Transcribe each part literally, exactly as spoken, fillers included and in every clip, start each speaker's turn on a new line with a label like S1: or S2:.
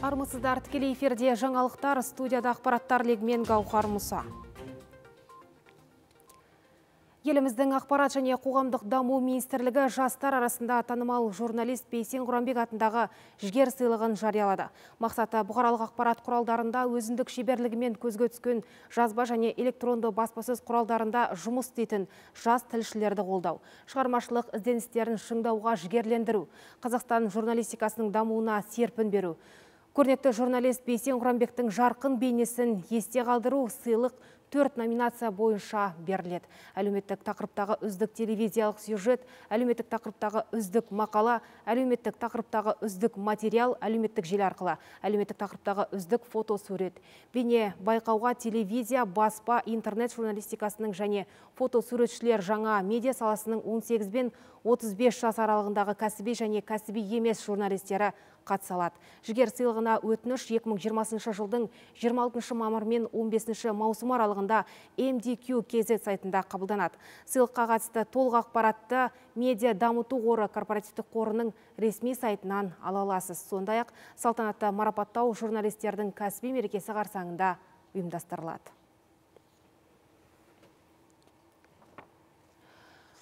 S1: Армысыздар, тікелей эфирде жаңалықтар, студияда ақпараттар легімен Гаухар Мұса. Еліміздің ақпарат және қоғамдық даму министрлігі жастар арасында танымал журналист Бейсен Құранбек атындағы жігер сыйлығын жариялады. Мақсаты бұқаралық ақпарат құралдарында өзіндік шеберлігімен көзге түскен жазба және электронды баспасөз құралдарында жұмыс істейтін жас тілшілерді қолдау. Шығармашылық ізденістерін шыңдауға жігерлендіру, Қазақстан журналистикасының дамуына серпін беру. Көрнекті журналист Бейсен Құранбектің жарқын бейнесін есте қалдыру сыйлық төрт номинация бойынша беріледі. Әлеуметтік тақырыптағы үздік телевизиялық сюжет, әлеуметтік тақырыптағы үздік мақала, әлеуметтік тақырыптағы үздік материал, әлеуметтік желі арқылы, әлеуметтік тақырыптағы үздік фотосурет. Бейне байқауға телевизия, баспа, интернет журналистикасының және фотосуретшілер жаңа медиа саласының он сегіз бен отыз бес жас аралығындағы кәсіби және кәсіби емес журналистері қатысалады. Жігер сыйлығына өтініш екі мың жиырмасыншы жылдың жиырма алтыншы мамыр мен он бесінші маусым аралығында эм ди кью кей зет сайтында қабылданады. Сыйлыққа қатысты толық ақпаратты медиа дамыту қоры корпоративтік қорының ресми сайтынан ала аласыз. Сондай-ақ салтанатты марапаттау журналистердің кәсіби мерекесі қарсаңында ұйымдастырылады.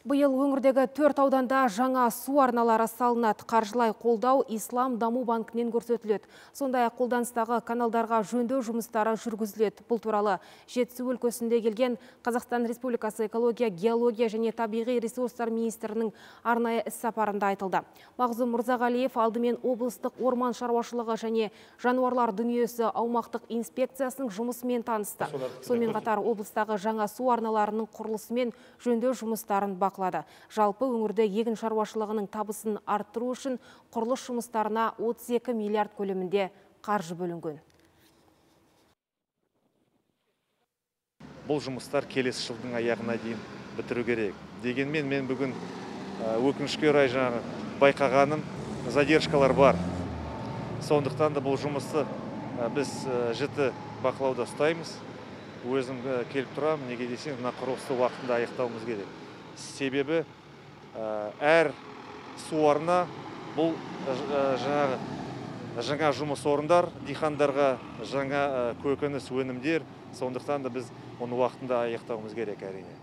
S1: Бұйыл өңірдегі төрт ауданда жаңа су арналары салынады. Қаржылай қолдау Ислам даму банкінен көрсетіледі. Сондай-ақ қолданыстағы каналдарға жөндеу жұмыстары жүргізіледі. Бұл туралы Жетісу өлкесінде келген Қазақстан Республикасы экология, геология және табиғи ресурстар министрінің арнайы іс-сапарында айтылды. Мағзұм Мырзағалиев алдымен облыстық орман шаруашылығы және жануарлар дүниесі аумақтық инспекциясының жұмысымен танысты. Сонымен қатар облыстағы жаңа су арналарының құрылысы мен жөндеу жұмыстарын бақылады. Жалпы өңірде егін шаруашылығының табысын арттыру үшін құрылыс жұмыстарына отыз екі миллиард көлемінде қаржы бөлінген.
S2: Бұл жұмыстар келесі жылдың аяғына дейін бітіру керек. Дегенмен мен бүгін өкінішке орай жаңағы байқағаным задержкалар бар. Сондықтан да бұл жұмысты біз жіті бақылауда ұстаймыз. Өзім келіп тұрам, неге десең, мына құрылысты уақытында аяқтауымыз керек. Себебі әр су арна бұл жаңа жұмыс орындар, дихандарға жаңа көкөніс өнімдер, сондықтан да біз оны уақытында аяқтауымыз керек әрине.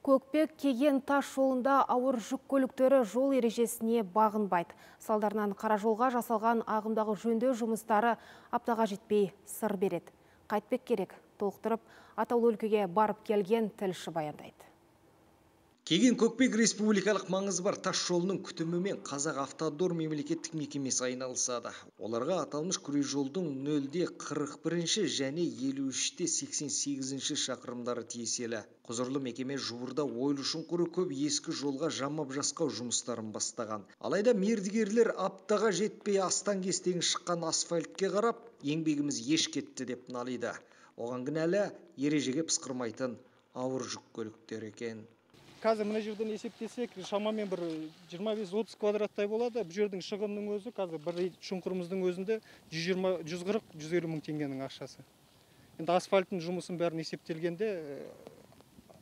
S1: Көкпек кеген тас жолында ауыр жүк көліктері жол ережесіне бағынбайды. Салдарынан қара жолға жасалған ағымдағы жөндеу жұмыстары аптаға жетпей сыр береді. Қайтпек керек, толықтырып, атаулы өлкеге барып келген тілші баяндайды.
S3: Кеген Көкпек республикалық маңызы бар тас жолының күтімімен Қазақ автодор мемлекеттік мекемесі айналысады. Оларға аталмыш күре жолдың нөлде қырық бірінші және елу үште сексен сегізінші шақырымдары тиеселі. Құзырлы мекеме жуырда ойлы шұңқыры көп ескі жолға жамап жасқау жұмыстарын бастаған. Алайда мердігерлер аптаға жетпей астан кестен шыққан асфальтке қарап, еңбегіміз еш кетті деп налиды. Оған кінәлі ережеге пысқырмайтын ауыр жүк көліктер екен.
S4: Қазір мына жерден есептесек, шамамен бір жиырма бес отыз квадраттай болады. Бұл жердің шығынның өзі қазір бір шұңқырымыздың өзінде жүз жиырма жүз қырық жүз елу мың теңгенің ақшасы. Енді асфальттың жұмысын бәрін есептелгенде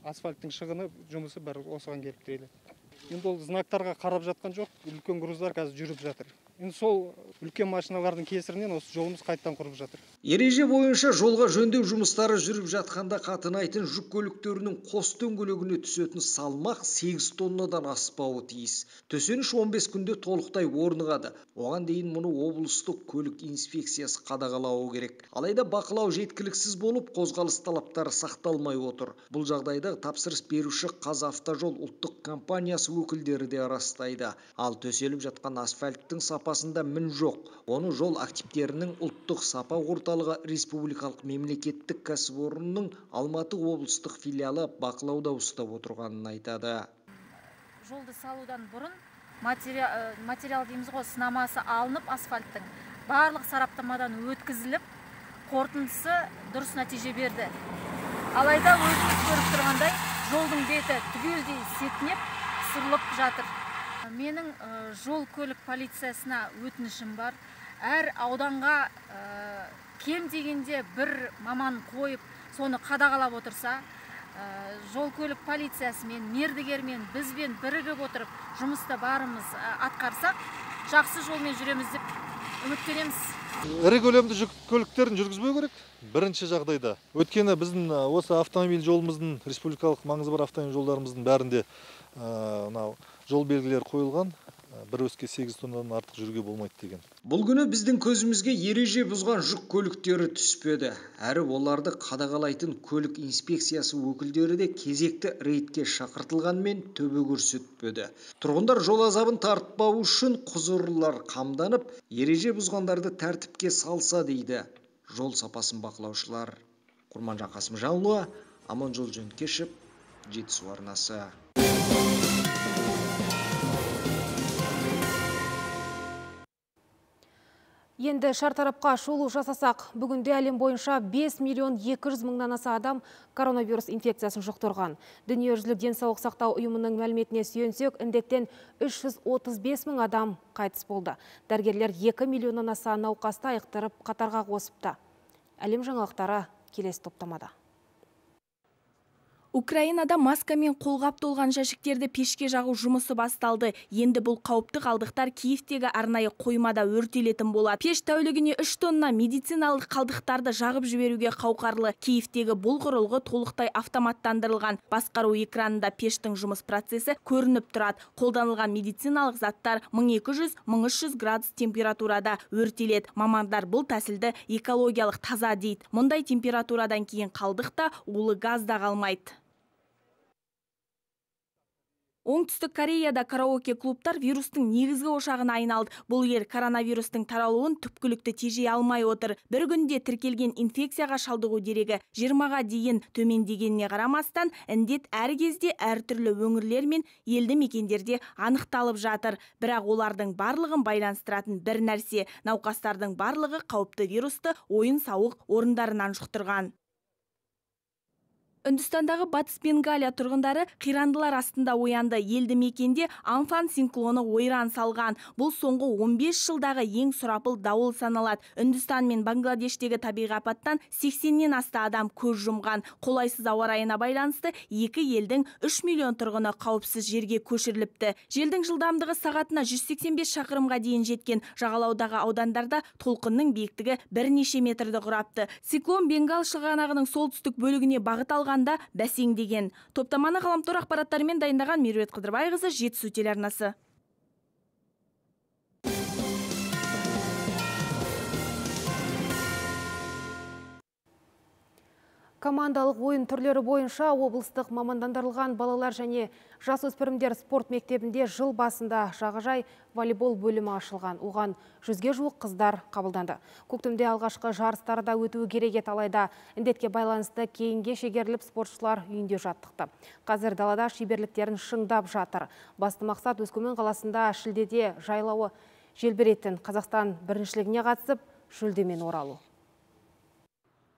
S4: асфальттың шығыны жұмысы бәрі осыған келіп тіреледі. Енді ол знактарға қарап жатқан жоқ, үлкен груздар қазір жүріп жатыр. Енді сол үлкен машиналардың кесірінен осы жолымыз қайттан құрып жатыр.
S3: Ереже бойынша жолға жөндеу жұмыстары жүріп жатқанда қатынайтын жүк көліктерінің қос дөңгелегіне түсетін салмақ сегіз тоннадан аспауы тиіс. Төсеніш он бес күнде толықтай орнығады. Оған дейін мұны облыстық көлік инспекциясы қадағалауы керек. Алайда бақылау жеткіліксіз болып, қозғалыс талаптары сақталмай отыр. Бұл жағдайда тапсырыс беруші Қазавтожол ұлттық компаниясы өкілдері де растайды. Ал төселіп жатқан асфальттың сапасында мін жоқ. Оны жол активтерінің ұлттық сапа орталығы республикалық мемлекеттік кәсіпорынның Алматы облыстық филиалы бақылауда ұстап отырғанын айтады.
S5: Жолды салудан бұрын материал, материал дейміз ғой, сынамасы алынып асфальттың барлық сараптамадан өткізіліп, қорытындысы дұрыс нәтиже берді. Алайда өзіңіз көріп тұрғандай, жолдың беті түгелдей сетінеп, сырылып жатыр. Менің жол көлік полициясына өтінішім бар. Әр ауданға кем дегенде бір маман қойып, соны қадағалап отырса, жол көлік полициясымен, мердігермен, бізбен бірігіп отырып, жұмыста барымыз атқарсақ, жақсы жолмен жүреміз деп үміттенеміз.
S6: Ірі көлемді жүк көліктерін жүргізбеу керек. Бірінші жағдайда. Өткені біздің осы автомобиль жолымыздың, республикалық маңызы бар автомобиль жолдарымыздың бәрінде жол белгілері қойылған. бір өске сегіз тоннадан артық жүруге болмайды деген.
S3: Бұл күні біздің көзімізге ереже бұзған жүк көліктері түспеді. Әрі оларды қадағалайтын көлік инспекциясы өкілдері де кезекті рейдке шақыртылғанмен төбе көрсетпеді. Тұрғындар жол азабын тартпау үшін құзырлылар қамданып, ереже бұзғандарды тәртіпке салса дейді жол сапасын бақылаушылар. Құрманжан Қасымжанұлы, Аманжол Жөнкешев, Жетісу арнасы.
S1: Енді шартарапқа шолу жасасақ, бүгінде әлем бойынша бес миллион екі жүз мыңнан аса адам коронавирус инфекциясын жұқтырған. Дүниежүзілік денсаулық сақтау ұйымының мәліметіне сүйенсек, індеттен үш жүз отыз бес мың адам қайтыс болды. Дәрігерлер екі миллионнан аса науқасты айықтырып қатарға қосыпты. Әлем жаңалықтары келесі топтамада.
S7: Украинада маскамен қолғап толған жәшіктерді пешке жағу жұмысы басталды. Енді бұл қауіпті қалдықтар Киевтегі арнайы қоймада өртелетін болады. Пеш тәулігіне үш тонна медициналық қалдықтарды жағып жіберуге қауқарлы. Киевтегі бұл құрылғы толықтай автоматтандырылған. Басқару экранында пештің жұмыс процесі көрініп тұрады. Қолданылған медициналық заттар мың екі жүз — мың үш жүз градус температурада өртеледі. Мамандар бұл тәсілді экологиялық таза дейді. Мұндай температурадан кейін қалдықта улы газ да қалмайды. Оңтүстік Кореяда караоке клубтар вирустың негізгі ошағына айналды. Бұл ел коронавирустың таралуын түпкілікті тежей алмай отыр. Бір күнде тіркелген инфекцияға шалдығу дерегі жиырмаға дейін төмендегеніне қарамастан, індет әр кезде әртүрлі өңірлер мен елді мекендерде анықталып жатыр. Бірақ олардың барлығын байланыстыратын бір нәрсе, науқастардың барлығы қауіпті вирусты ойын-сауық орындарынан жұқтырған. Үндістандағы Батыс Бенгалия тұрғындары қирандылар астында оянды. Елді мекенде Амфан циклоны ойран салған. Бұл соңғы он бес жылдағы ең сұрапыл дауыл саналады. Үндістан мен Бангладештегі табиғи апаттан сексеннен аса адам көз жұмған. Қолайсыз ауа райына байланысты екі елдің үш миллион тұрғыны қауіпсіз жерге көшіріліпті. Желдің жылдамдығы сағатына жүз сексен бес шақырымға дейін жеткен. Жағалаудағы аудандарда толқынның биіктігі бірнеше метрді құрапты. Циклон Бенгал шығанағының солтүстік бөлігіне бағыт алған бәсеңдеген. Топтаманы ғаламтор ақпараттарымен дайындаған Меруерт Қыдырбайқызы, Жетісу телеарнасы.
S1: Командалық ойын түрлері бойынша облыстық мамандандырылған балалар және жасөспірімдер спорт мектебінде жыл басында жағажай волейбол бөлімі ашылған. Оған жүзге жуық қыздар қабылданды. Көктемде алғашқы жарыстарда өтуі керек еді, алайда індетке байланысты кейінге шегеріліп спортшылар үйінде жаттықты. Қазір далада шеберліктерін шыңдап жатыр. Басты мақсат Өскемен қаласында шілдеде жайлауы желбіретін Қазақстан біріншілігіне қатысып, жүлдемен оралу.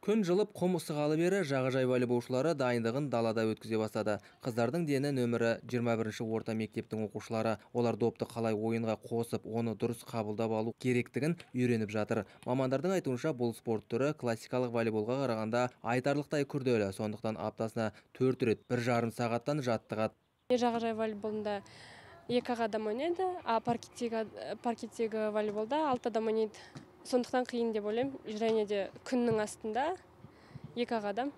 S8: Күн жылып, құм ысығалы бері жағажай волейболшылары дайындығын далада өткізе бастады. Қыздардың дені нөмірі жиырма бірінші орта мектептің оқушылары. Олар допты қалай ойынға қосып, оны дұрыс қабылдап алу керектігін үйреніп жатыр. Мамандардың айтуынша, бұл спорт түрі классикалық волейболға қарағанда айтарлықтай күрделі. Сондықтан аптасына төрт рет бір жарым сағаттан жаттығады.
S9: Жағажай волейболында екі адам ойнайды, а паркеттегі волейболда алты адам ойнайды. Сондықтан қиын деп ойлаймын. Және де күннің астында екі адам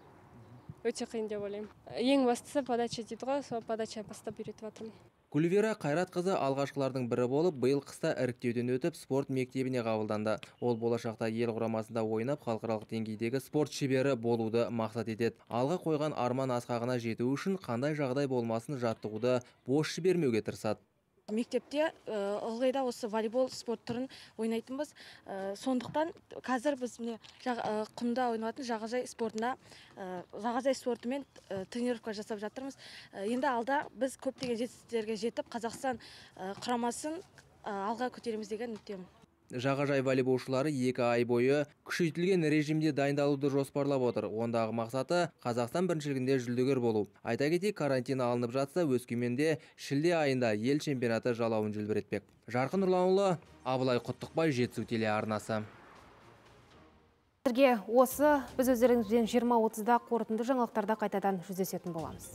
S9: өте қиын деп ойлаймын. Ең бастысы подача дейді ғой, сол подача бастап үйретіп жатырмын.
S8: Гүлвира Қайратқызы алғашқылардың бірі болып, биыл қыста іріктеуден өтіп, спорт мектебіне қабылданды. Ол болашақта ел құрамасында ойнап, халықаралық деңгейдегі спорт шебері болуды мақсат етеді. Алға қойған арман асқағына жету үшін қандай жағдай болмасын жаттығуды бос жібермеуге тырысады.
S10: Мектепте ылғи да осы волейбол спорт түрін ойнайтынбыз. Сондықтан қазір біз құмда ойнайтын жағажай спортына, жағажай спортымен тренировка жасап жатырмыз. Енді алда біз көптеген жетістіктерге жетіп, Қазақстан құрамасын алға көтереміз деген үміттемін.
S8: Жағажай волейболшылары екі ай бойы күшейтілген режимде дайындалуды жоспарлап отыр. Ондағы мақсаты Қазақстан біріншілігінде жүлдегер болу. Айта кетейік, карантин алынып жатса, Өскеменде шілде айында ел чемпионаты жалауын желбіретпек. Жарқын Нұрланұлы, Абылай Құттықбай, Жетісу телеарнасы.
S1: Осы біз өздеріңізбен жиырма отызда қорытынды жаңалықтарда қайтадан жүздесетін боламыз.